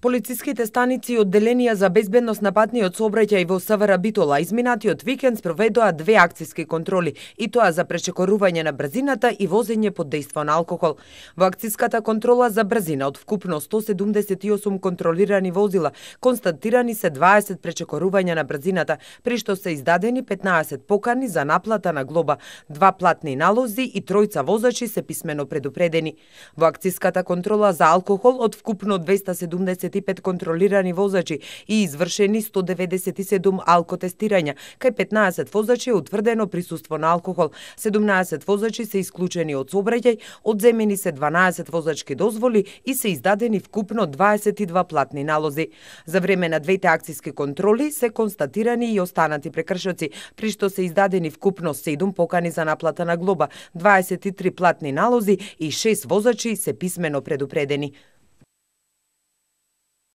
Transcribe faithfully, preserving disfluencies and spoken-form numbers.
Полициските станици и одделенија за безбедност на патниот сообраќај во СВР Битола изминатиот викенд спроведоа две акциски контроли, и тоа за пречекорување на брзината и возење под дејство на алкохол. Во акциската контрола за брзина од вкупно сто седумдесет и осум контролирани возила, констатирани се дваесет пречекорувања на брзината, при што се издадени петнаесет покани за наплата на глоба, два платни налози и тројца возачи се писмено предупредени. Во акциската контрола за алкохол од вкупно двеста седумдесет и пет контролирани возачи и извршени сто деветдесет и седум алкотестирања, кај петнаесет возачи е утврдено присуство на алкохол, седумнаесет возачи се исклучени од сообраќај, одземени се дванаесет возачки дозволи и се издадени вкупно дваесет и два платни налози. За време на двете акциски контроли се констатирани и останати прекршоци, при што се издадени вкупно седум покани за наплата на глоба, дваесет и три платни налози и шест возачи се писмено предупредени.